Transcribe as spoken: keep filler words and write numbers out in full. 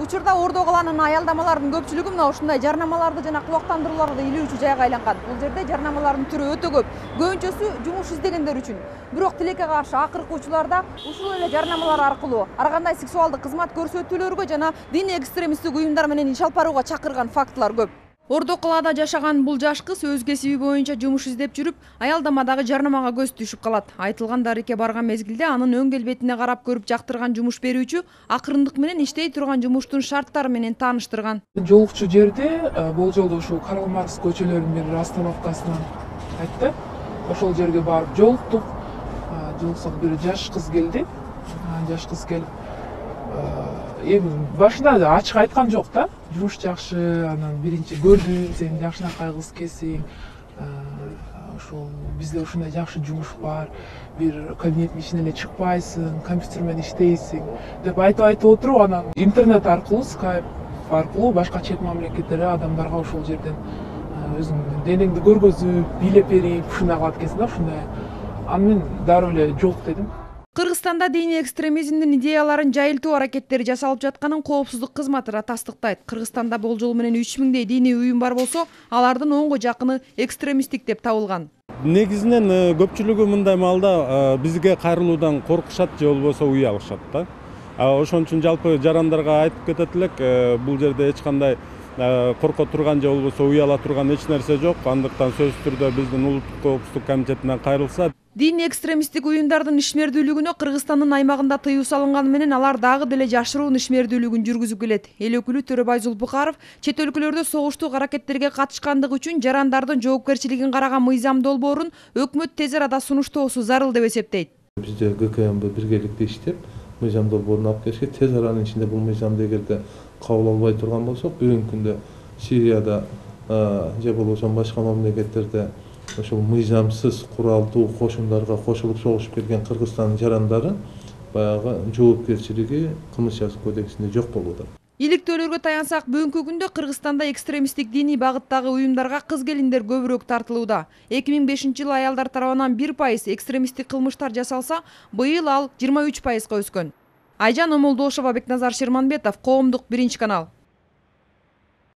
Учурда Ордо калаанын аялдамаларынын көпчүлүгү мына ушундай жарнамаларды жана кубактандырууларды илүүчү жайга айланган. Бул жерде жарнамалардын түрү өтө көп. Көбүнчөсү жумуш издегендер үчүн. Бирок тилекке каршы акыркы учурларда ушул эле жарнамалар аркылуу ар кандай сексуалдык кызмат көрсөтүүлөргө жана диний экстремисттик уюмдар менен иш алып барууга чакырган фактылар көп. Ордо калаада жашаган бул жаш кыз өз кесиби боюнча жумуш издеп жүрүп, аялдамадагы жарнамага көз түшүп калат. Айтылган дарекке барган мезгилде анын өң келбетине карап көрүп жактырган жумуш берүүчү акырындык менен иштей турган жумуштун шарттары менен тааныштырган. Жолукчу жерде болжолдо ушул Карл Маркс көчөлөрүнүн бир остановкасынан айтты. Ошол жерге барып жолуктук. Жолуксак бир жаш кыз келди. Жаш кыз келип эми башында ачык айткан жок да. Жумуш жакшы, анан биринчи көрдүм, сен жакшынакай кыз экенсиң. Ошол бизде ушундай жакшы жумуш бар. Бир кабинеттин ичине эле чыкпайсың, компьютер менен иштейсиң деп айтып айтып отуруп, анан интернет аркылуу, скайп аркылуу башка чет мамлекеттерде адамдарга ошол жерден өзүңдүн денеңди көргөзүп, бийлеп берип, ушундай кылат экенсиң да, ушундай. Аны мен дароо эле жок дедим. Кыргызстанда диний экстремизмдин идеяларын жайылтуу аракеттери жасалып жатканын коопсуздук кызматы да тастыктайт. Кыргызстанда болжол менен үч миңдей диний уюм бар болсо, алардын онго жакыны экстремисттик деп табылган. Негизинен көпчүлүгү мындай маалда бизге кайрылуудан коркушат же болбосо уялышат да. Ошон үчүн жалпы жарандарга айтып кетет элек, бул жерде эч кандай корко турган же болбосо уяла турган эч нерсе жок. Андыктан сөзсүз түрдө биздин улуттук коопсуздук комитетинен кайрылса. Диний экстремисттик уюмдардын ишмердүүлүгүнө Кыргызстандын аймагында тыюу салынганы менен алар дагы деле жашыруун ишмердүүлүгүн жүргүзүп келет. Эл өкүлү Төрөбай Зулпукаров чет өлкөлөрдө согуштук аракеттерге катышкандыгы үчүн жарандардын жоопкерчилигин караган мыйзам долбоорун өкмөт тез арада сунуштоосу зарыл деп эсептейт. Бизде ГКМБ биргеликте иштеп, мыйзам долбоорун алып келишке, тез аранын ичинде бул мыйзамды эгерде кабыл албай турган болсок, бүгүнкү күндө Сирияда же болбосо башка мамлекеттерде ошол мыйзамсыз куралдуу кошундарга кошулуп согушуп келген Кыргызстандын жарандары баягы жоопкерчилиги Кылмыш жазык кодексинде жок болуп атат. Иликтөөлөргө таянсак, бүгүнкү күндө Кыргызстанда экстремисттик диний багыттагы уюмдарга кыз келиндер көбүрөөк тартылууда. эки миң бешинчи жылы аялдар тарабынан бир пайыз экстремисттик кылмыштар жасалса, быйыл ал жыйырма үч пайызга өскөн. Айжан Омолдошова, Бекназар Шерманбетов, Коомдук биринчи канал.